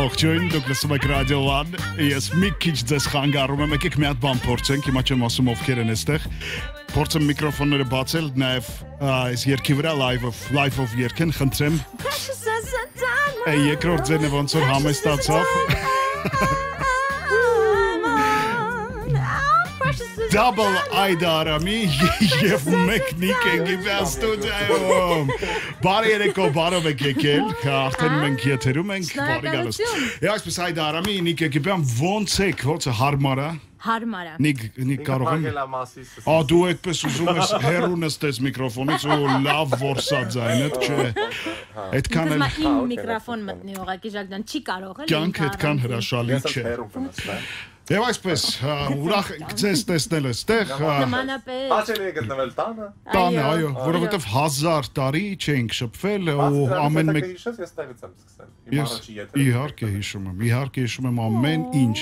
Ողջույն, դուք լսում եք Ռադիո 1, ես մի քիչ ձեզ խանգարում եմ, եկեք մի հատ բան փորձենք, հիմա չեմ ասում ովքեր են այստեղ, փորձեմ միկրոֆոնները բացել, նաև այս երգի վրա live-ով երգեն, խնդրեմ, երկրորդ ձենը ոնց որ համեստացավ, Double Այդարամի և մեկ նիկ ենք իպյան ստուդիայում, բարի երեկո բարով եք եկել, արդեն մենք եթերում ենք, բարի գալուս, այսպես Այդարամի նիկ եք իպյան ոնց եք, ոնց է հարմարա, Հարմարա Նիկ կարող եմ, դու այդպես ուզում ես հեռու նստես միկրոֆոնից ու լավ որսած այնդ չէ, այդքան էլ իմ միկրոֆոն մտնի ուղղակի Ժակդան չի կարող էլ կյանք այդքան հրաշալի չէ Եվ այսպես, ուրախ եք ձեզ տեսնել այստեղ Նմանապես Հաճելի է գտնվել տանը Տանը, այո, որովհետև 1000 տարի չենք շփվել ու ամեն մեկ հիշես, ես տեղից եմ սկսել Իհարկե հիշում եմ ամեն ինչ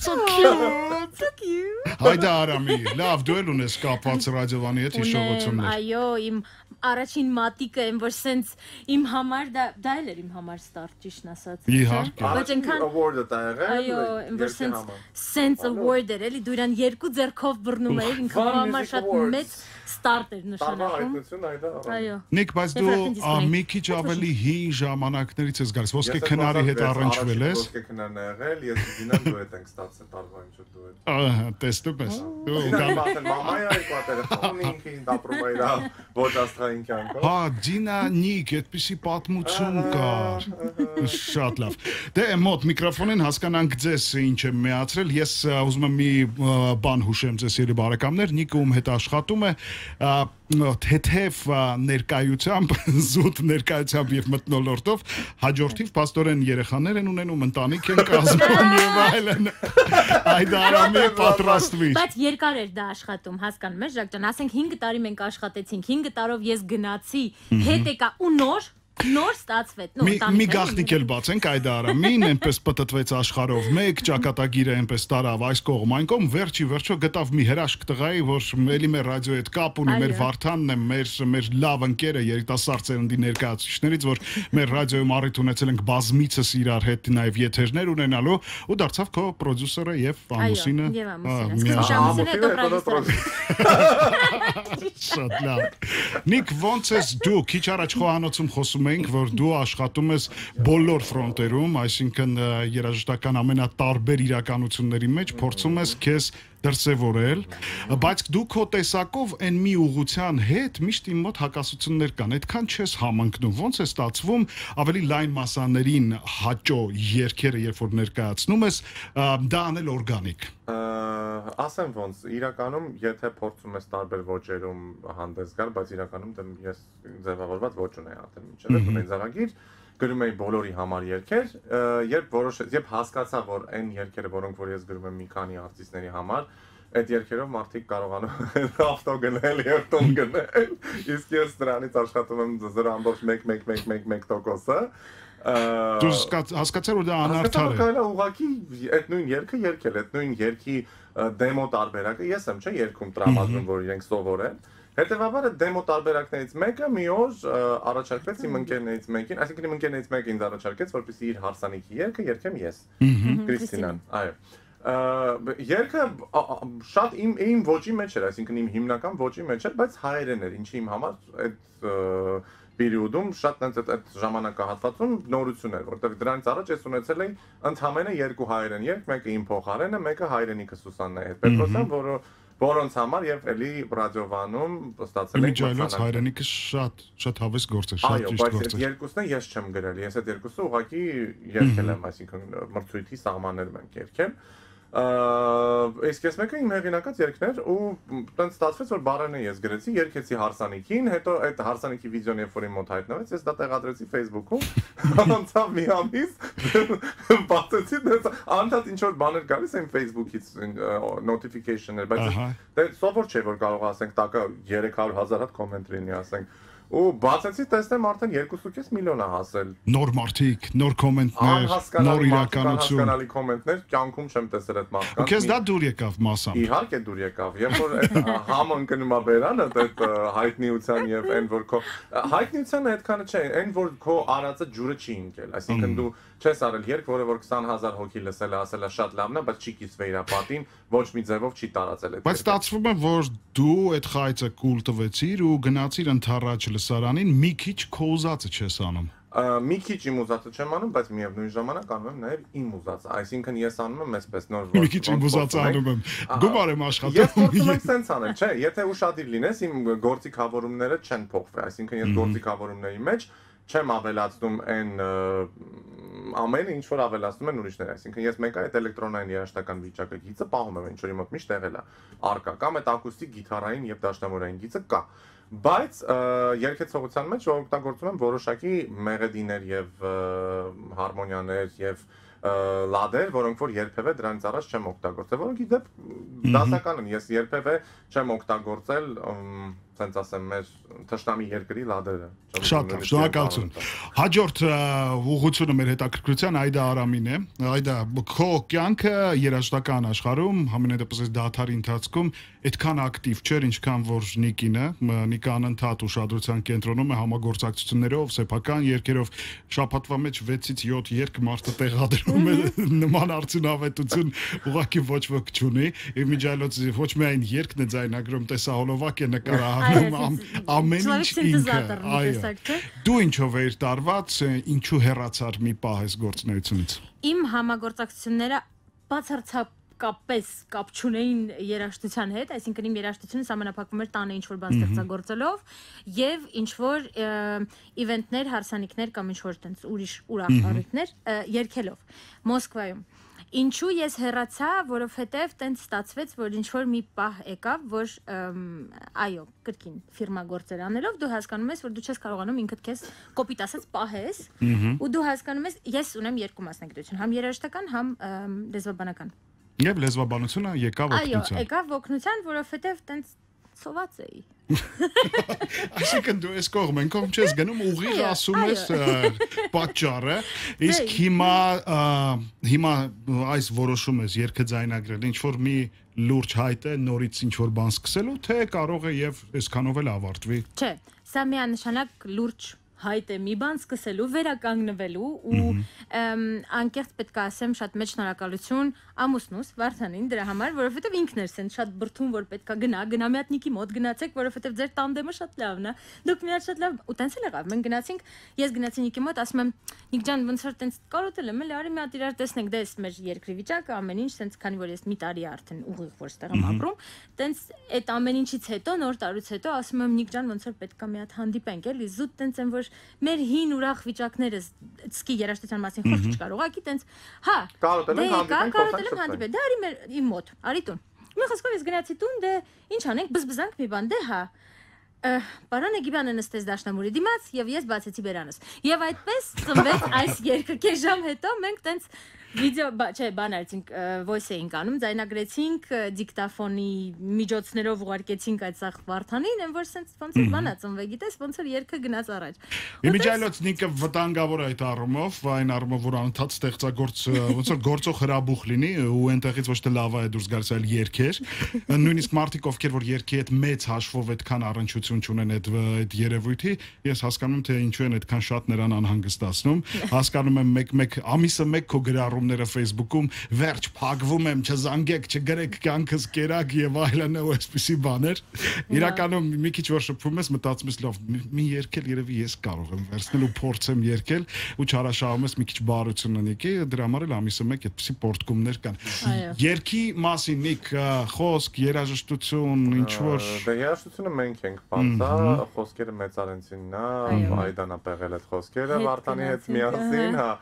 So cute Հայդա Արամի, լավ դու էլ ունես կապված ռադիովանի հետ հիշողություններ Այո, իմ առաջին մատիկը եմ, որ սենց իմ համար, դա էլ էր իմ համար ստարտ, ճիշտն ասած Իհարկե Բայց այնքան Award-ը դա եղել Այո, որ սենց award էր, էլի դու իրան երկու ձեռքով բռնում էիր, ինքը համար շատ մեծ ստարտ էր նշանակում Այո Նիկ, բայց դու մի քիչ ավելի հին ժամանակներից ես գալիս, ոսկե քնարի հետ առնչվել ես Ոսկե քնարն է եղել, ես գինան դու հետ ենք ստացել տարվա ինչ դու հետ Ահա, տեսնում ես Դինան բացել մամայա եկա տելեֆոնի ինքին դապրում էր ոչ աստղային կյանքով Հա, Դինա Նիկ, այդպիսի պատմություն կար Շատ լավ Դե մոտ միկրոֆոնին հասկանանք ձեզ ինչ եմ միացրել Ես ուզում եմ մի բան հուշեմ ձեզ երբ բարեկամներ Նիկը ում հետ աշխատում է թեթև ներկայությամբ, զուտ ներկայությամբ և մթնոլորտով հաջորդիվ պաստորեն երեխաներ են ունենում, ընտանիք են կազմում և այլն այդ արամի պատրաստվիր Բայց երկար էր դա աշխատում, հասկանում ես Ժակ ջան, ասենք 5 տարի մենք աշխատեցինք, 5 տարով ես գնացի, հետ եկա ու նոր ստացվեց Մի գաղտնիք էլ բացենք այդ արամին, այնպես պտտվեց աշխարհով մեկ, ճակատագիրը այնպես տարավ այս կողմ այն կողմ, վերջի վերջո գտավ մի հրաշք տղայի, որ էլի մեր ռադիոյի հետ կապ ունի, մեր Վարդանն է, մեր լավ ընկերը երիտասարդ ծերնդի ներկայացուցիչներից, որ մեր ռադիոյում առիթ ունեցել ենք բազմիցս իրար հետ նաև եթերներ ունենալու ու դարձավ քո պրոդյուսերը եւ ամուսինը Շատ լավ Նիկ, ոնց ես դու քիչ առաջ խոհանոցում խոսում ենք, որ դու աշխատում ես բոլոր ֆրոնտերում, այսինքն երաժշտական ամենատարբեր իրականությունների մեջ փորձում ես քեզ դրսևորել, բայց դու քո տեսակով այն մի ուղղության հետ միշտ իմ մոտ հակասություններ կան, այդքան չես համընկնում, ոնց է ստացվում ավելի լայն մասաներին հաճո երգերը, երբ որ ներկայացնում ես, դա անել օրգանիկ։ Ասեմ ոնց, իրականում, եթե փորձում ես տարբեր ոճերում հանդես գալ, բայց իրականում ես ձևավորված ոճ ունեի արդեն մինչև ունեի ձեռագիր, գրում էի բոլորի համար երգեր, երբ հասկացա, որ այն երգերը, որոնք որ ես գրում եմ մի քանի արտիստների համար, այդ երգերով մարդիկ կարողանում ավտո գնել եւ տուն գնել, իսկ ես դրանից աշխատում եմ 0.1%-ը Դու հասկացար, որ դա անարդար է։ Հասկացա, ուղղակի այդ նույն երգը երգել, այդ նույն երգի դեմո տարբերակը ես եմ, չէ, երգում տրամադրում, որ իրենք սովորեն։ Հետևաբար այդ դեմո տարբերակներից մեկը մի օր առաջարկվեց իմ ընկերներից մեկին, այսինքն իմ ընկերներից մեկը ինձ առաջարկեց, որպեսզի իր հարսանիքի երգը երգեմ ես, Կրիստինան, այո։ Երգը շատ իմ ոճի մեջ էր, այսինքն իմ հիմնական ոճի մեջ էր, բայց հայերեն էր, ինչի իմ համար այդ պերիոդում շատ այդ ժամանակահատվածում նորություն էր, որտեղ դրանից առաջ ես ունեցել էի ընդհանրապես երկու հայերեն երգ, մեկը իմ փոխարենը, մեկը հայրենիքը Սուսաննայի հետ Պետրոսյան, որոնց համար եւ էլի ռադիովանում ստացել ենք մրցանակ։ Հայրենիքը շատ հավես գործ է, շատ ճիշտ գործ է։ Այո, բայց այդ երկուսն ես չեմ գրել, ես այդ երկուսը ուղղակի երգել եմ, այսինքն մրցույթի սահմաններում ենք երգել։ Իսկ ես մեկը իմ հեղինակած երգներ ու տենց ստացվեց, որ բառերն ես գրեցի, երգեցի հարսանիքին, հետո այդ հարսանիքի վիդեոն երբ որ իմ մոտ հայտնվեց, ես դա տեղադրեցի Facebook-ում, անցավ մի ամիս, բացեցի, անդադ ինչ որ բաներ գալիս են Facebook-ից notification-ներ, բայց դե սովոր չէ որ կարող ասենք տակը 300,000 հատ կոմենտ լինի, ասենք ու բացեցի տեսնեմ արդեն 2.5 միլիոն է հասել։ Նոր մարդիկ, նոր կոմենտներ, նոր իրականություն։ Անհասկանալի կոմենտներ, կյանքում չեմ տեսել այդ մարդկանց։ Ու քեզ դա դուր եկավ մասամբ։ Իհարկե դուր եկավ։ Երբ որ այդ համը ընկնում է բերանը, այդ հայտնիության եւ այն որ քո հայտնիությունը այդքանը չէ, այն որ քո արածը ջուրը չի ընկել։ Այսինքն դու չես արել երկ, որը որ 20000 հոգի լսել է, ասել է շատ լավն է, բայց չի կիսվել իր պատին, ոչ մի ձևով չի տարածել այդ։ Բայց ստացվում է, որ դու այդ խայծը կուլ տվեցիր ու գնացիր ընդառաջ լսարանին, մի քիչ քո ուզածը չես անում։ Մի քիչ իմ ուզածը չեմ անում, բայց միևնույն ժամանակ անում եմ նաև իմ ուզածը։ Այսինքն ես անում եմ այսպես նոր Մի քիչ իմ ուզածը անում եմ։ Գումար եմ աշխատում։ Ես փորձում եմ սենց անել, չէ, եթե ուշադիր լինես, իմ գործիքավորումները չեն փոխվի, այսինքն ես գործիքավորումների մեջ չեմ ավելացնում այն ամենը, ինչ որ ավելացնում են ուրիշները, այսինքն ես մեկ այդ էլեկտրոնային երաժշտական վիճակը գիծը պահում եմ, ինչ որ իմ մոտ միշտ եղել է արկա, կամ այդ ակուստիկ գիտարային եւ դաշնամուրային գիծը կա, բայց երգեցողության մեջ օգտագործում եմ որոշակի մեղեդիներ եւ հարմոնիաներ եւ լադեր, որոնք որ երբևէ դրանից առաջ չեմ օգտագործել, որոնք իդեպ դասական են, ես երբևէ չեմ օգտագործել, ասենց ասեմ, մեր թշնամի երկրի լադերը։ Շատ լավ, շնորհակալություն։ Հաջորդ ուղղությունը մեր հետաքրքրության Այդա Արամին է։ Այդա, քո կյանքը երաժշտական աշխարհում համենայնդեպս դաթարի ընթացքում այդքան ակտիվ չէր, ինչքան որ Նիկինը, Նիկը անընդհատ ուշադրության կենտրոնում է համագործակցություններով, սեփական երգերով, շաբաթվա մեջ 6-ից 7 երգ մարդը տեղադրում է, նման արդյունավետություն ուղղակի ոչ ոք չունի։ Եվ միջայլոց ոչ միայն երգն է ձայնագրում, տեսահոլովակ է նկարահանում, ամեն ինչ ինքը, այո։ Դու ինչով էիր տարված, ինչու հեռացար մի պահ այս գործունեությունից։ Իմ համագործակցությունները բացարձակապես կապ չունեին երաժշտության հետ, այսինքն իմ երաժշտությունը սահմանափակվում էր տանը ինչ-որ բան ստեղծագործելով եւ ինչ-որ իվենտներ, հարսանիքներ կամ ինչ-որ տենց ուրիշ ուրախ առիթներ երգելով Մոսկվայում։ Ինչու ես հեռացա, որովհետև տենց ստացվեց, որ ինչ-որ մի պահ եկավ, որ այո, կրկին ֆիրմա գործեր անելով դու հասկանում ես, որ դու չես կարողանում ինքդ քեզ կոպիտ ասած պահես, ու դու հասկանում ես, ես ունեմ երկու մասնագիտություն, համ երաժշտական, համ լեզվաբանական։ Եվ լեզվաբանությունը եկավ օգնության։ Այո, եկավ օգնության, որովհետև տենց սոված էի։ Այսինքն դու ես կողմ չես գնում ուղիղ ասում ես պատճառը, իսկ հիմա այս որոշում ես երգը ձայնագրել, ինչ որ մի լուրջ հայտ է նորից ինչ որ բան սկսելու, թե կարող է եւ այսքանով էլ ավարտվի։ Չէ, սա միանշանակ լուրջ հայտ է մի բան սկսելու, վերականգնվելու ու անկեղծ պետք է ասեմ շատ մեծ շնորհակալություն ամուսնուս Վարդանին դրա համար, որովհետև ինքն էր սենց շատ բրթում, որ պետք է գնա մի հատ Նիկի մոտ գնացեք, որովհետև ձեր տանդեմը շատ լավն է։ Դուք մի հատ շատ լավ ու տենց էլ եղավ։ Մենք գնացինք, ես գնացի Նիկի մոտ, ասում եմ Նիկ ջան, ոնց որ տենց կարոտել եմ, էլի արի մի հատ իրար տեսնենք, դե էս մեր երկրի վիճակը, ամեն ինչ, սենց քանի որ ես մի տարի արդեն ուղիղ որ ստեղ եմ ապրում, տենց այդ ամեն ինչից հետո նոր տարուց հետո ասում եմ Նիկ ջան, ոնց որ պետք է մի հատ հանդիպենք, էլի զուտ տենց եմ որ մեր հին ուրախ վիճակները սկի երաժշտության մասին խոսք չկար, ուղղակի տենց, հա, կարոտել եմ հանդիպել, դե արի մեր իմ մոտ, արի տուն։ Մի խոսքով ես գնացի տուն, դե ինչ անենք, բզբզանք մի բան, դե հա։ Պարանը Գիբյանը նստեց դաշնամուրի դիմաց եւ ես բացեցի բերանս։ Եվ այդպես ծնվեց այս երգը։ Քեզ ժամ հետո մենք տենց վիդեո, չէ, բան արեցինք, voice էինք անում, ձայնագրեցինք դիկտաֆոնի միջոցներով ուղարկեցինք այդ սախ Վարդանին, այն որ սենց ոնց էր բանա ծնվե, գիտես, ոնց էր երգը գնաց առաջ։ Իմիջիայլոց Նիկը վտանգավոր այդ առումով, այն առումով որ անընդհատ ստեղծագործ ոնց որ գործող հրաբուխ լինի ու այնտեղից ոչ թե լավա է դուրս գալիս, այլ երգեր։ Նույնիսկ մարդիկ ովքեր որ երգի հետ մեծ հաշվով այդքան առնչություն չունեն այդ երևույթի, ես հասկանում եմ թե ինչու են այդքան շատ նրան անհանգստացնում։ Հասկանում եմ մեկ ամիսը մեկ քո գրառումները Facebook-ում վերջ փակվում եմ, չզանգեք, չգրեք կյանքս կերակ եւ այլն ու այսպիսի բաներ։ Իրականում մի քիչ որ շփվում ես, մտածում ես լավ, մի երգել երևի ես կարող եմ վերցնել ու փորձեմ երգել ու չարաշահում ես մի քիչ բարություն ունի, դրա համար էլ ամիսը մեկ այդպիսի պորտկումներ կան։ Երգի մասին Նիկ, խոսք, երաժշտություն, ինչ որ Դե երաժշտությունը մենք ենք բացա, խոսքերը մեծարենցինն է, Այդան է պեղել այդ խոսքերը Վարդանի հետ միասին, հա։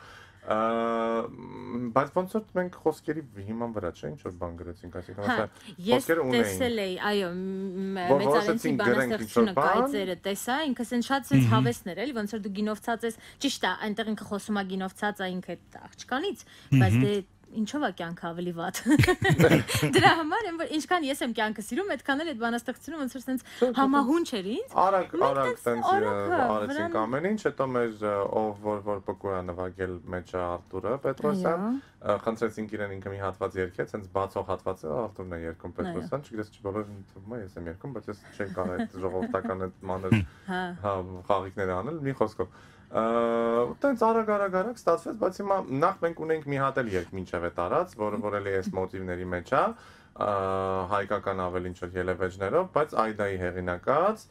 Բայց ոնց որ մենք խոսքերի հիման վրա չէ, ինչ որ բան գրեցինք, այսինքն խոսքերը ունեին։ Ես տեսել էի, այո, մեծարենցի բանաստեղծությունը կայծերը տեսա, ինքը սենց շատ սենց հավեսներ էլի, ոնց որ դու գինովցած ես, ճիշտ է, այնտեղ ինքը խոսում է գինովցած է ինքը այդ աղջկանից, բայց դե ինչով է կյանքը ավելի վատ։ Դրա համար եմ որ ինչքան ես եմ կյանքը սիրում, այդքան էլ այդ բանաստեղծությունը ոնց որ sense համահունչ էր ինձ։ Արագ sense արեցինք ամեն ինչ, հետո մեր ով որ պկուրա նվագել մեջ Արտուրը Պետրոսյան, խնդրեցինք իրեն ինքը մի հատված երգեց, sense բացող հատվածը Արտուրն է երգում Պետրոսյան, չգիտես բոլորին թվում է ես եմ երգում, բայց ես չեմ կարող այդ ժողովրդական այդ մանր խաղիկները անել, մի խոսքով Տենց արագ ստացվեց, բայց հիմա նախ մենք ունենք մի հատ էլ երգ մինչև է տարած, որը էլի այս մոտիվների մեջ է, հայկական ավելի ինչ-որ ելևեջներով, բայց Այդայի հեղինակած,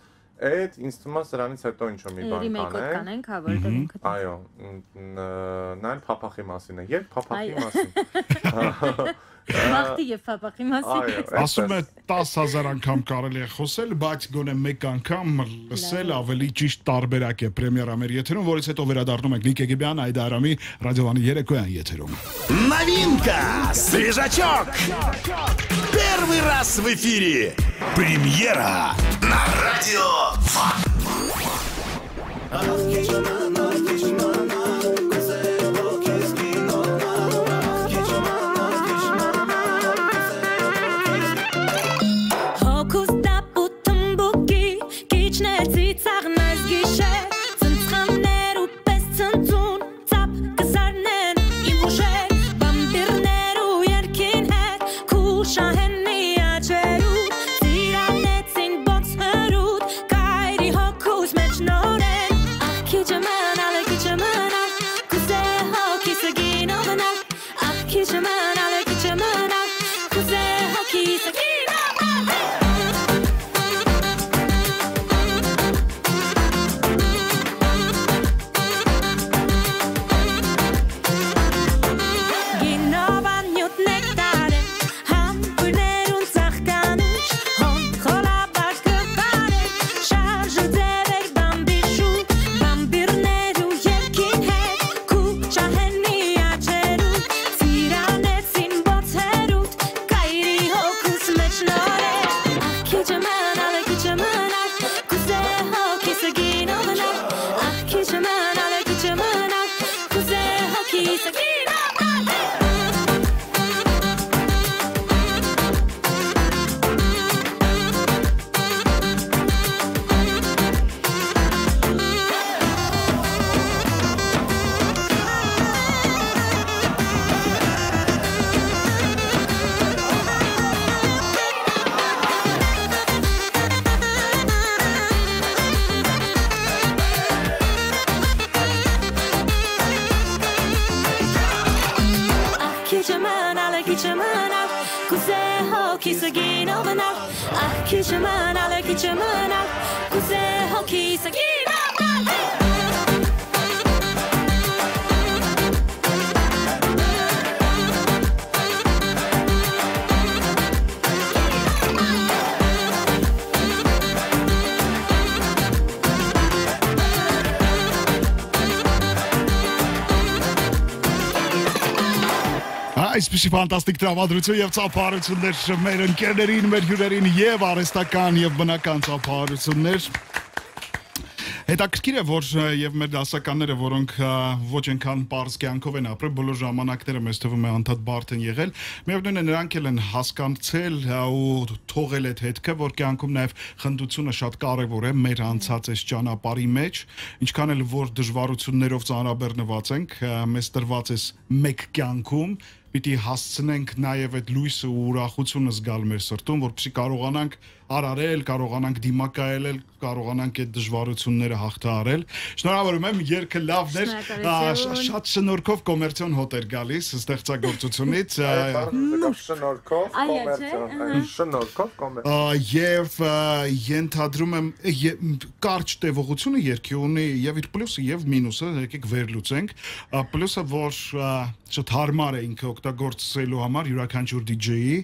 այդ ինձ թվում է սրանից հետո ինչ-որ մի բան կանենք, այո, նա էլ փափախի մասին է, երբ փափախի մասին Մաղթի և փափախի մասին Ասում է 10,000 անգամ կարելի է խոսել, բայց գոնե մեկ անգամ լսել ավելի ճիշտ տարբերակ է պրեմիերա մեր եթերում, որից հետո վերադառնում ենք Նիկ Եգիբյան, Այդա Արամի ռադիովանի երեկոյան եթերում Новинка! Свежачок! Первый раз в эфире! Премьера на радио Այսպիսի ֆանտաստիկ տրամադրություն եւ ծափահարություններ մեր ընկերներին, մեր հյուրերին եւ արհեստական եւ բնական ծափահարություններ Հետաքրքիր է, որ եւ մեր դասականները, որոնք ոչ այնքան པարզ կյանքով են ապրել, բոլոր ժամանակները մեզ թվում է անդադ բարդ են եղել, միևնույն է նրանք էլ են հասկացել ու թողել այդ հետքը, որ կյանքում նաեւ խնդությունը շատ կարեւոր է մեր անցած այս ճանապարհի մեջ, ինչքան էլ որ դժվարություններով ծանրաբեռնված ենք, մեզ տրված է մեկ կյանքում Պիտի հասցնենք նաև այդ լույսը ու ուրախությունը զգալ մեր սրտում, որպեսզի կարողանանք արարել, կարողանանք դիմակայել, կարողանանք այդ դժվարությունները հաղթահարել։ Շնորհավորում եմ, երգը լավն էր, շատ շնորհքով կոմերցիոն հոտ էր գալիս ստեղծագործությունից։ Շնորհքով կոմերցիոն։ Եվ ենթադրում եմ կարճ տևողությունը երգի ունի եւ իր պլյուսը եւ մինուսը, եկեք վերլուծենք։ Պլյուսը, որ շատ հարմար է ինքը օգտագործելու համար յուրաքանչյուր DJ-ի,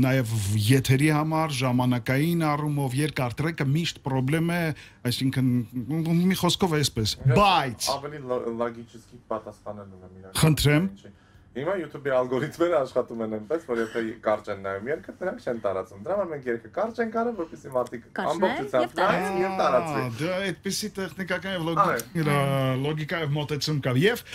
նաև եթերի համար, ժամանակային առումով երկար տրեկը միշտ պրոբլեմ է, այսինքն մի խոսքով այսպես, բայց ավելի լոգիկի պատասխանելու եմ իրական։ Խնդրեմ։ Հիմա YouTube-ի ալգորիթմերը աշխատում են այնպես, որ եթե կարճ են նայում երկը, դրանք չեն տարածում։ Դրա համար մենք երկը կարճ ենք արել, որպեսզի մարդիկ ամբողջությամբ նայեն եւ տարածվի։ Դա այդպեսի տեխնիկական եւ լոգիկայով մոտեցում կա։ Եվ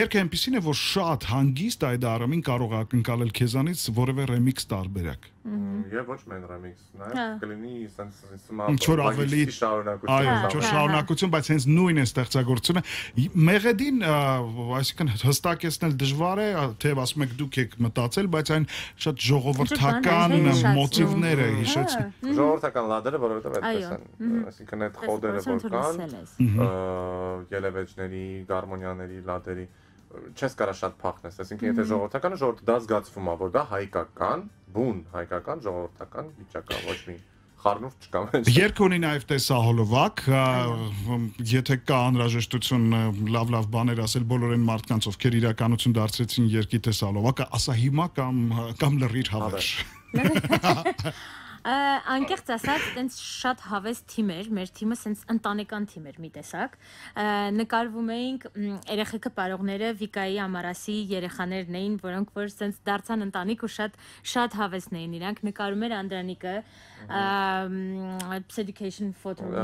երկը այնպեսին է, որ շատ հանգիստ այդ առումին կարող է ակնկալել քեզանից որևէ remix տարբերակ։ Եվ ոչ միայն remix, նաեւ կլինի ինչ-որ ավելի շարունակություն, բայց հենց նույն է ստեղծագործությունը։ Մեղեդին, այսինքն հստակեցնել դժվար է, թեև ասում եք դուք եք մտածել, բայց այն շատ ժողովրդական մոտիվներ է հիշեցնում։ Ժողովրդական լադերը, որովհետեւ այդպես են, այսինքն այդ խոդերը որ կան, ելևեջների, գարմոնիաների, լադերի չես կարա շատ փախնես, այսինքն եթե ժողովրդականը ժողովուրդը դա զգացվում է, որ դա հայկական, բուն հայկական ժողովրդական վիճակ է, ոչ մի խառնուրդ չկա մեջ։ Երգ ունի նաև տեսահոլովակ, եթե կա անհրաժեշտություն լավ բաներ ասել բոլոր այն մարդկանց, ովքեր իրականություն դարձրեցին երգի տեսահոլովակը, ասա հիմա կամ լրիր հավերժ։ Անկեղծ ասած, տենց շատ հավես թիմ էր, մեր թիմը սենց ընտանեկան թիմ էր մի տեսակ, նկարվում էինք երեխեքը պարողները Վիկայի Ամարասի երեխաներն էին, որոնք որ սենց դարձան ընտանիք ու շատ հավեսն էին իրանք, նկարում էր Անդրանիկը, Education Photo-ի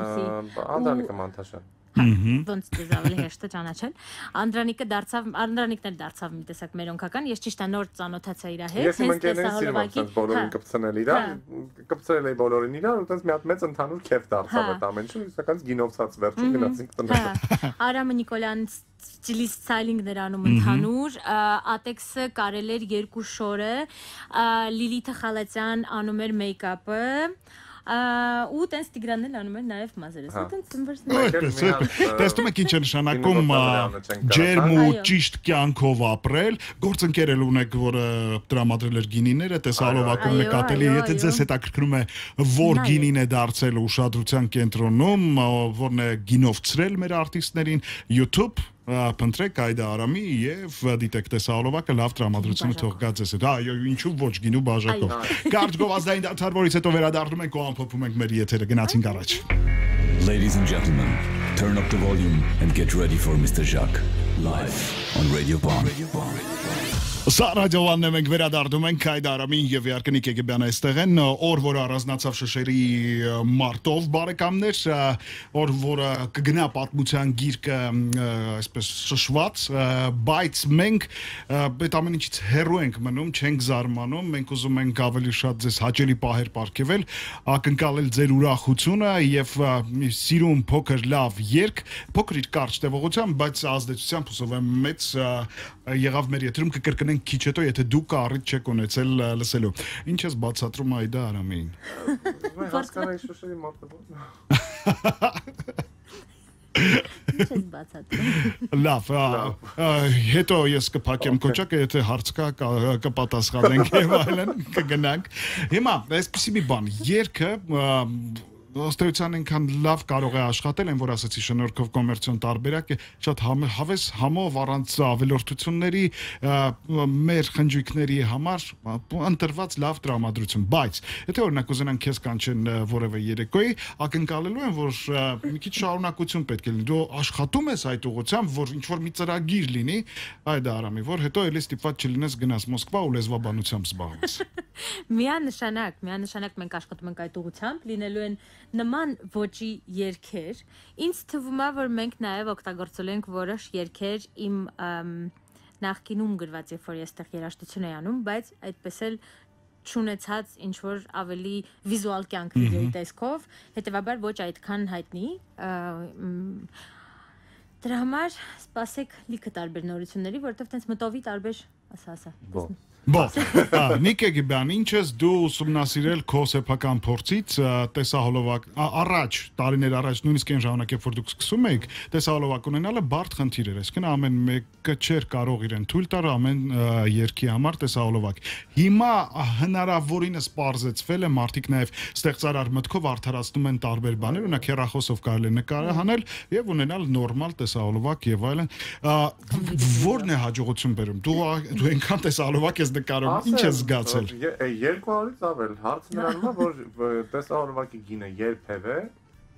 Անդրանիկը Մանթաշյան ոնց դες ավելի հեշտ է ճանաչել Անդրանիկն էլ դարձավ մի տեսակ մեր օնքական ես ճիշտ է նոր ծանոթացա իր հետ ես իմ ընկերներին սիրում եմ բոլորին կպցնել իրար կպցրել էի բոլորին իրար ու տես մի հատ մեծ ընդհանուր քեֆ դարձավ այդ ամեն ինչը իսկական գինովցած վերջում գնացինք տները Արամը Նիկոլյան Stylist styling-ներ անում ընդհանուր Ատեքսը կարել էր 2 շորը Լիլիթը Խալացյան անում էր մեյքափը ու տենց Տիգրանն էլ անում էր նաև մազերս ու տենց ծնվերս Տեսնում եք ինչ է նշանակում ջերմ ու ճիշտ կյանքով ապրել գործընկեր էլ ունեք որը տրամադրել էր գինիները տեսահոլովակում նկատելի եթե ձեզ հետաքրքրում է որ գինին է դարձել ուշադրության կենտրոնում որն է գինովցրել մեր արտիստներին YouTube Փնտրեք Այդա Արամի եւ դիտեք տեսահոլովակը լավ տրամադրությունը թող գա ձեզ հետ։ Այո, ինչու ոչ գինու բաժակով։ Կարճ գովազդային դարձար, որից հետո վերադառնում ենք ու ամփոփում ենք մեր եթերը։ Գնացինք առաջ։ Ladies and gentlemen, turn up the volume and get ready for Mr. Jacques live on Radio One. Սա ռադիոանն է մենք վերադառնում ենք Այդա Արամին եւ իհարկե Նիկ Եգեբյանը այստեղ են օր որը առանձնացավ շշերի մարտով բարեկամներ օր որը կգնա պատմության գիրկը այսպես շշված բայց մենք այդ ամեն ինչից հեռու ենք մնում չենք զարմանում մենք ուզում ենք ավելի շատ ձեզ հաճելի պահեր ապարգևել ակնկալել ձեր ուրախությունը եւ սիրուն փոքր լավ երգ փոքր իր կարճ տևողությամբ բայց ազդեցությամբ հուսով եմ մեծ եղավ մեր եթերում կկրկնենք քիչ հետո եթե դուք առիթ չեք ունեցել լսելու ինչ ես բացատրում Այդա Արամին Մենք հասկանանք շշերի մարտը Ինչ ես բացատրում Լավ հետո ես կփակեմ կոճակը եթե հարց կա կպատասխանենք եւ այլն կգնանք հիմա այսպեսի մի բան երգը ըստեյության այնքան լավ կարող է աշխատել, այն որ ասացի շնորհքով կոմերցիոն տարբերակ է, շատ հավես համով առանց ավելորդությունների մեր խնջույքների համար ընտրված լավ տրամադրություն, բայց եթե օրինակ ուզենան քեզ կանչեն որևէ երեկոյի, ակնկալելու են, որ մի քիչ շարունակություն պետք է լինի, դու աշխատում ես այդ ուղղությամբ, որ ինչ որ մի ծրագիր լինի, Այդա Արամի, որ հետո էլի ստիպված չլինես գնաս Մոսկվա ու լեզվաբանությամբ զբաղվես։ Միանշանակ մենք աշխատում ենք այդ ուղղությամբ, լինելու են նման ոճի երգեր ինձ թվում է որ մենք նաև օգտագործել ենք որոշ երգեր իմ նախկինում գրված երբ որ ես այդտեղ երաժշտություն էի անում բայց այդպես էլ չունեցած ինչ որ ավելի վիզուալ կյանք վիդեոյի տեսքով հետեւաբար ոչ այդքան հայտնի դրա համար սպասեք լիքը տարբեր նորությունների որովհետև տենց մտովի տարբեր ասա Նիկ Եգեբյան, ինչ ես դու ուսումնասիրել քո սեփական փորձից տեսահոլովակ առաջ տարիներ առաջ նույնիսկ այն ժամանակ երբ որ դուք սկսում եք տեսահոլովակ ունենալը բարդ խնդիր էր այսինքն ամեն մեկը չէր կարող իրեն թույլ տալ ամեն երգի համար տեսահոլովակ հիմա հնարավորինս պարզեցվել է մարդիկ նաև ստեղծարար մտքով արդարացնում են տարբեր բաներ օրինակ հեռախոսով կարելի է նկարահանել եւ ունենալ նորմալ տեսահոլովակ եւ այլն որն է հաջողություն բերում դու այնքան տեսահոլովակ ես նկարում ինչ ես զգացել 200-ից ավել հարցը նրանում է որ տեսահոլովակի գինը երբևէ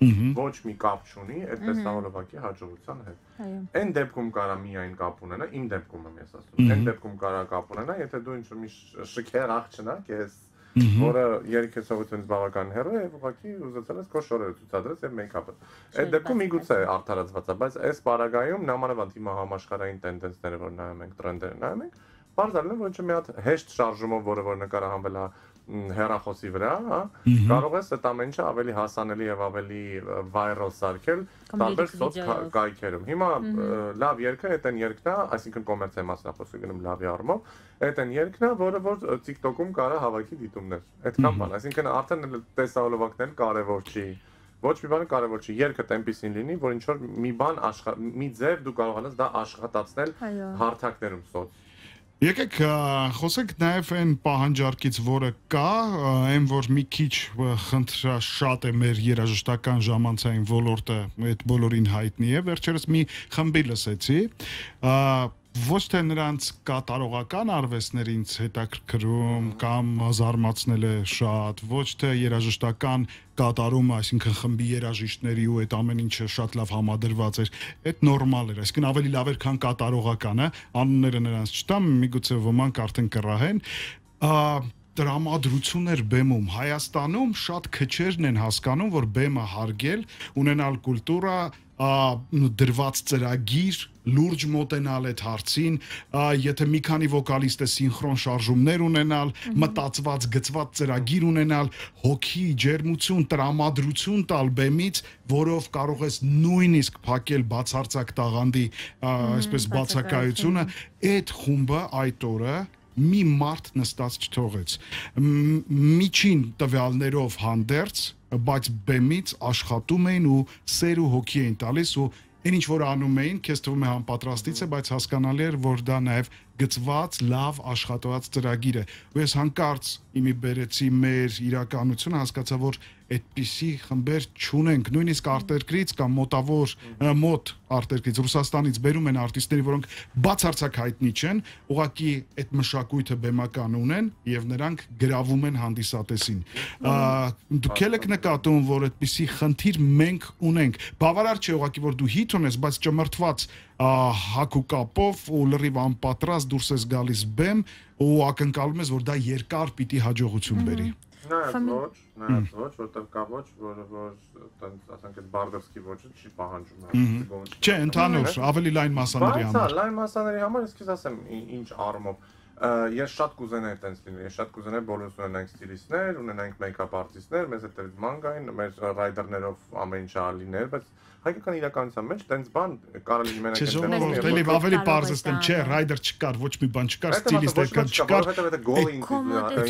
ոչ մի կապ չունի այդ տեսահոլովակի հաջողության հետ։ Այն դեպքում կարա միայն կապ ունենա, իմ դեպքում եմ ես ասում։ Այն դեպքում կարա կապ ունենա, եթե դու ինչ-որ մի շքեր աղ չնակ ես, որը երգեցողությունից բավական հեռու է, եւ ուղղակի ուզեցել ես քո շորերը ցուցադրես եւ մեյքափը։ Այդ դեպքում միգուցե արդարացված է, բայց այս պարագայում նամանավանդ հիմա համաշխարհային տենդենսները, որ նայում ենք, տրենդերը նայում ենք, բարձրացնել է, որ մի հատ հեշտ շարժումով, որը նկարահանվել է հեռախոսի վրա, հա, կարող ես այդ ամեն ինչը ավելի հասանելի եւ ավելի վայրալ սարքել տարբեր սոցկայքերում։ Հիմա լավ երգը այդ են երգն է, այսինքն կոմերցիայի մասնախոսը գնում լավի առումով, այդ են երգն է, որը որ TikTok-ում կարա հավաքի դիտումներ։ Այդքան բան, այսինքն արդեն տեսահոլովակն կարևոր չի։ Ոչ մի բան կարևոր չի, երգը տեմպիսին լինի, որ ինչ որ մի բան մի ձև դու կարողանաս դա աշխատացնել հարթակներում սոց։ Եկեք խոսենք նաև այն պահանջարկից, որը կա, այն որ մի քիչ խնդրաշատ է մեր երաժշտական ժամանցային ոլորտը, այդ բոլորին հայտնի է, վերջերս մի խմբի լսեցի, ոչ թե նրանց կատարողական արվեստներից հետաքրքրում կամ զարմացնել է շատ, ոչ թե երաժշտական կատարումը, այսինքն խմբի երաժիշտների ու այդ ամեն ինչը շատ լավ համադրված էր, այդ նորմալ էր, այսինքն ավելի լավ էր, քան կատարողականը, անունները նրանց չտամ, միգուցե ոմանք արդեն կռահեն, տրամադրություններ բեմում Հայաստանում շատ քչերն են հասկանում, որ բեմը հարգել, ունենալ կուլտուրա, դրված ծրագիր, լուրջ մոտենալ այդ հարցին, եթե մի քանի վոկալիստ է սինխրոն շարժումներ ունենալ, մտածված, գծված ծրագիր ունենալ, հոգի, ջերմություն, տրամադրություն տալ բեմից, որով կարող ես նույնիսկ փակել բացարձակ տաղանդի, այսպես բացակայությունը, այդ խումբը այդ օրը մի մարդ նստած չթողեց, միջին տվյալներով հանդերձ, բայց բեմից աշխատում էին ու սեր ու հոգի էին տալիս ու այն ինչ որ անում էին, քեզ թվում է համապատրաստից է, բայց հասկանալի էր, որ դա նաև գծված, լավ աշխատված ծրագիր է։ Ու ես հանկարծ իմի բերեցի մեր իրականությունը, հասկացա, որ այդպիսի խմբեր չունենք, նույնիսկ արտերկրից կամ մոտ արտերկրից Ռուսաստանից բերում են արտիստների, որոնք բացարձակ հայտնի չեն, ուղղակի այդ մշակույթը բեմական ունեն եւ նրանք գրավում են հանդիսատեսին։ Դուք եք նկատում, որ այդպիսի խնդիր մենք ունենք։ Բավարար չէ ուղղակի, որ դու հիթ ունես, բայց ճմրթված հակուկապով ու լրիվ անպատրաստ դուրս ես գալիս բեմ ու ակնկալում ես, որ դա երկար պիտի հաջողություն բերի։ Նայած ոչ, որտեղ կա ոչ, որը ասենք այդ Բարդովսկի ոճը չի պահանջում։ Չէ, ընդհանուր, ավելի լայն մասաների համար։ Բայց լայն մասաների համար ես քեզ ասեմ ինչ առումով։ Ես շատ կուզենայի տենց լինի, ես շատ կուզենայի բոլորս ունենանք ստիլիստներ, ունենանք մեյքափ արտիստներ, մեզ հետ մանգային, մեր ռայդերներով ամեն ինչ ալիներ, բայց հայկական իրականության մեջ տենց բան կարող լինի մենակ այդպես։ Ավելի պարզ է, չէ, ռայդեր չկար, ոչ մի բան չկար, ստիլիստ չկար,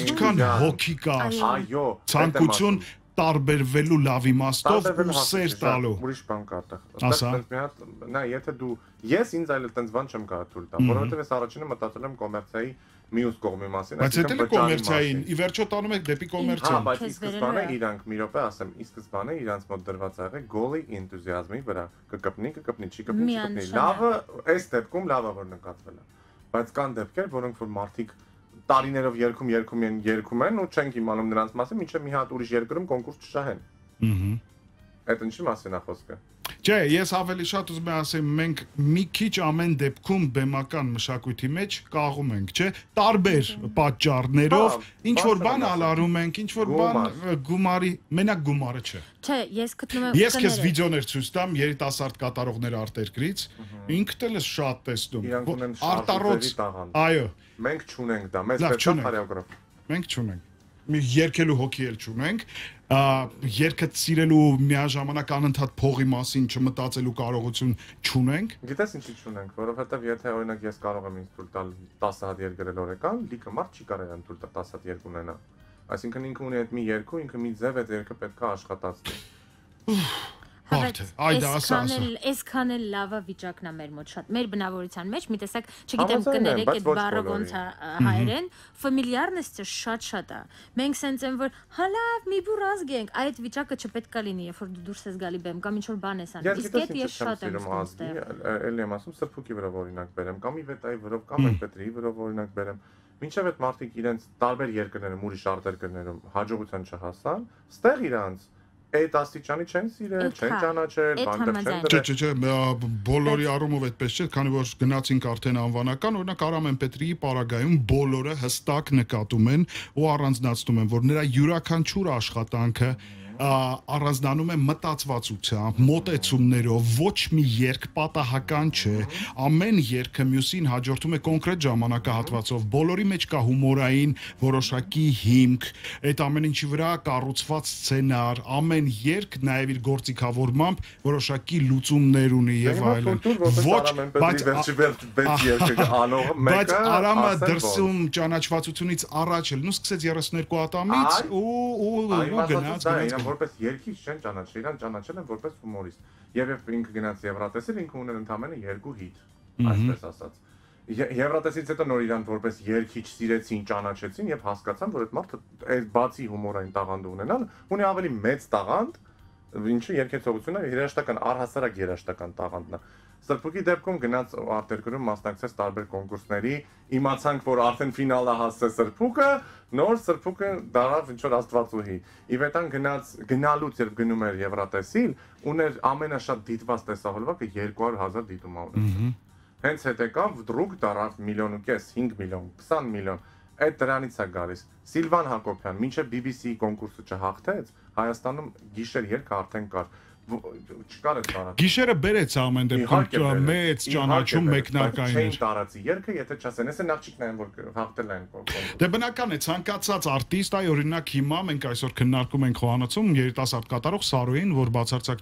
ինչքան հոգի կար, այո, ցանկություն տարբերվելու լավ իմաստով ու սեր տալու։ Ուրիշ բան կա այդտեղ։ Նա եթե դու ես ինձ այլ տենց բան չեմ կարող թույլ տալ, որովհետև ես առաջինը մտածել եմ կոմերցիայի մյուս կողմի մասին, բայց դա էլ կոմերցիային, ի վերջո տանում եք դեպի կոմերցիան։ Հա, բայց ի սկզբանե իրանք մի րոպե ասեմ, ի սկզբանե իրանց մոտ դրված աղը գոլի էնտուզիազմի վրա, կկպնի, չի կպնի։ Լավը, այս դեպքում լավը որ նկատվել է։ Բայց կան դեպքեր, որոնք որ մարդիկ տարիներով երգում են ու չենք իմանում նրանց մասին, մինչև մի հատ ուրիշ երկրում կոնկուրս չշահեն։ Այդ ինչի մասին է խոսքը։ Չէ, ես ավելի շատ ուզում եմ ասեմ, մենք մի քիչ ամեն դեպքում բեմական մշակույթի մեջ կաղում ենք, չէ՞, տարբեր պատճառներով, ինչ որ բան ալարում ենք, ինչ որ բան գումարի, մենակ գումարը չէ։ Չէ, ես գտնում եմ Ես քեզ վիդեոներ ցույց տամ երիտասարդ կատարողներ արտերկրից, ինքդ էլ ես շատ տեսնում։ Արտառոց, այո, մենք չունենք դա, մեզ պետք է խորեոգրաֆ։ Մենք չունենք։ Մի երկելու հոգի էլ չունենք, երկը սիրելու միաժամանակ անընդհատ փողի մասին չմտածելու կարողություն չունենք։ Գիտես ինչի չունենք, որովհետև եթե օրինակ ես կարող եմ ինձ թույլ տալ 10 հատ երգերել օրական, լիքը մարդ չի կարող եմ թույլ տալ 10 հատ երգ ունենա։ Այսինքն ինքը ունի այդ մի երկու, ինքը մի ձև այդ երգը պետք է աշխատացնի։ Այսքան էլ լավա վիճակն է մեր մոտ շատ։ Մեր բնավորության մեջ մի տեսակ, չգիտեմ կներեք այդ բառը ոնց է հայերեն, ֆամիլիարնեսը շատ է։ Մենք սենց են որ հա լավ մի բուր ազգ ենք, այդ վիճակը չպետք է լինի, երբ որ դու դուրս ես գալի բեմ կամ ինչ որ բան ես անում։ Իսկ այդ ես շատ եմ ստեղ։ Էլի եմ ասում սրբուկի վրա օրինակ բերեմ, կամ իվետայի վրա, կամ պետրի վրա օրինակ բերեմ։ Մինչև այդ մարդիկ իրենց տարբեր երկրներում, ուրիշ արտերկրներում հաջողության չհասան, ստեղ իրանց այդ աստիճանի չեն սիրել, չեն ճանաչել, բանտեղ չեն դրել։ Չէ, բոլորի առումով այդպես չէ, քանի որ գնացինք արդեն անվանական, օրինակ Արամեն Պետրիի պարագայում բոլորը հստակ նկատում են ու առանձնացնում են, որ նրա յուրաքանչյուր աշխատանքը առանձնանում է մտածվածությամբ, մոտեցումներով, ոչ մի երգ պատահական չէ, ամեն երգը մյուսին հաջորդում է կոնկրետ ժամանակահատվածով, բոլորի մեջ կա հումորային որոշակի հիմք, այդ ամեն ինչի վրա կառուցված սցենար, ամեն երգ նաև իր գործիքավորմամբ որոշակի լուծումներ ունի եւ այլն։ Բայց Արամը դրսում ճանաչվածությունից առաջ էլ նույն սկսեց 32 ատամից ու գնաց որպես երգիչ չեն ճանաչել, իրան ճանաչել են որպես հումորիստ։ Եվ ինքը գնաց Եվրատեսիլ, ինքը ուներ ընդամենը 2 հիթ, այսպես ասած։ Եվրատեսից հետո նոր իրան որպես երգիչ սիրեցին, ճանաչեցին եւ հասկացան, որ այդ մարդը այդ բացի հումորային տաղանդ ունենալ, ունի ավելի մեծ տաղանդ, ինչը երգեցողությունը երաժշտական առհասարակ երաժշտական տաղանդն է։ Սրբուկի դեպքում գնաց արտերկրում մասնակցեց տարբեր կոնկուրսների, իմացանք, որ արդեն ֆինալը հասցրեց Սրբուկը, նոր Սրբուկը դարավ ինչ-որ աստվածուհի։ Իվետան գնալուց երբ գնում էր Եվրատեսիլ, ուներ ամենաշատ դիտված տեսահոլովակը 200,000 դիտում ունեցել։ Հենց հետ եկավ դրուկ դարավ 1.5 միլիոն, 5 միլիոն, 20 միլիոն։ Այդ դրանից է գալիս։ Սիլվան Հակոբյան, մինչև BBC կոնկուրսը չհաղթեց, Հայաստանում գիշեր երգը արդեն կար։ Չկար այդ տարածքը։ Գիշերը բերեց ամեն դեպքում մեծ ճանաչում մեկնարկային էր։ Չէին տարածի երգը, եթե չասեն, էս են աղջիկներն, որ հաղթել են կոնկուրսը։ Դե բնական է, ցանկացած արտիստ, այ օրինակ հիմա մենք այսօր քննարկում ենք խոհանոցում երիտասարդ կատարող Սարոյին, որ բացարձակ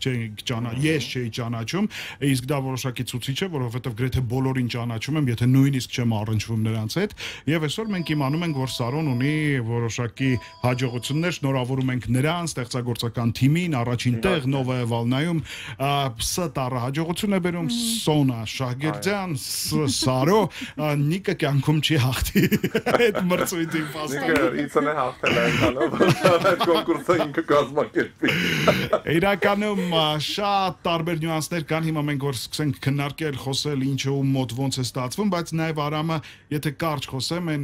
ես չէի ճանաչում, իսկ դա որոշակի ցուցիչ է, որովհետև գրեթե բոլորին ճանաչում եմ, եթե նույնիսկ չեմ առնչվում նրանց հետ, եւ այսօր մենք իմանում ենք, որ Սարոն ունի որոշակի հաջողություններ, շնորհավորում ենք նրան, ստեղծագործական թիմին, առաջին տեղ Նովա Վալնայում ստարը հաջողություն է բերում Սոնա Շահգերդյան, Սարո, Նիկը կյանքում չի հաղթի այդ մրցույթի փաստորեն։ Նիկը իցն է հաղթել այնքանով, այդ կոնկուրսը ինքը կազմակերպի։ Իրականում շատ տարբեր նյուանսներ կան, հիմա մենք որ սկսենք քննարկել, խոսել ինչը ու մոտ ոնց է ստացվում, բայց նաև Արամը, եթե կարճ խոսեմ, այն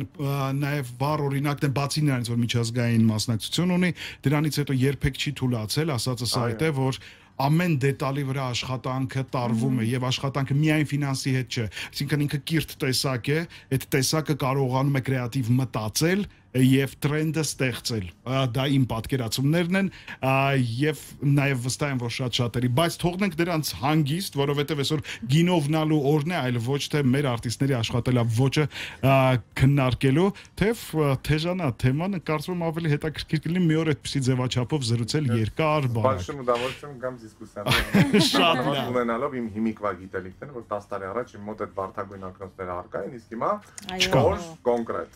նաև վառ օրինակն է բացի նրանից, որ միջազգային մասնակցություն ունի, դրանից հետո երբեք չի թուլացել, ասածս այդ է, որ ամեն դետալի վրա աշխատանքը տարվում է եւ աշխատանքը միայն ֆինանսի հետ չէ, այսինքն ինքը կիրթ տեսակ է, այդ տեսակը կարողանում է կրեատիվ մտածել եւ տրենդը ստեղծել։ Դա իմ պատկերացումներն են եւ նաեւ վստահ եմ, որ շատ-շատերի, բայց թողնենք դրանց հանգիստ, որովհետեւ այսօր գինովնալու օրն է, այլ ոչ թե մեր արտիստների աշխատելավոճը քննարկելու, թեժանա թեման, կարծում եմ ավելի հետաքրքիր կլինի մի օր այդպեսի ձևաչափով զրուցել երկար բառ։ Բարձրում կամ դիսկուսիաներ։ Շատ լավ։ Ունենալով իմ հիմիկվա գիտելիքները, որ 10 տարի առաջ իմ մոտ այդ բարդագույն ակնոցները առկա են, իսկ հիմա չոր կոնկրետ։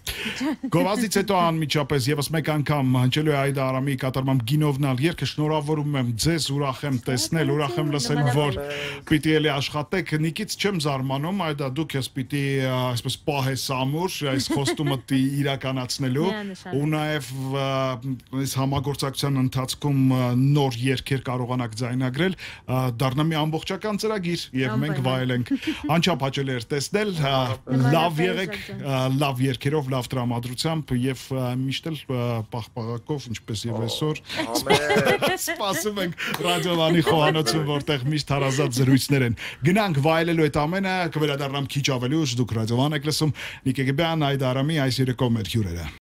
Գովազդից հետո անմիջապես եւս մեկ անգամ հնչելու է Այդա Արամի կատարմամբ գինովնալ երգը, շնորհավորում եմ ձեզ, ուրախ եմ տեսնել, ուրախ եմ լսել, որ պիտի էլի աշխատեք, Նիկից չեմ զարմանում, Այդա դու քեզ պիտի այսպես պահես ամուր այս խոստումը իրականացնելու ու նաեւ այս համագործակցության ընթացքում նոր երգեր կարողանաք ձայնագրել, դառնա մի ամբողջական ծրագիր եւ մենք վայելենք։ Անչափ հաճելի էր տեսնել, լավ եղեք, լավ երգերով, լավ տրամադրությամբ եւ միշտ էլ պաղպաղակով, ինչպես եւ այսօր։ Սպասում ենք ռադիոլանի խոհանոցում, որտեղ միշտ հարազատ զրույցներ են։ Գնանք վայելելու այդ ամենը, կվերադառնամ քիչ ավելի ուշ, դուք ռադիոլան եք լսում, Նիկե Գեբյան, Այդա Արամի այս երեկո մեր հյուրերը։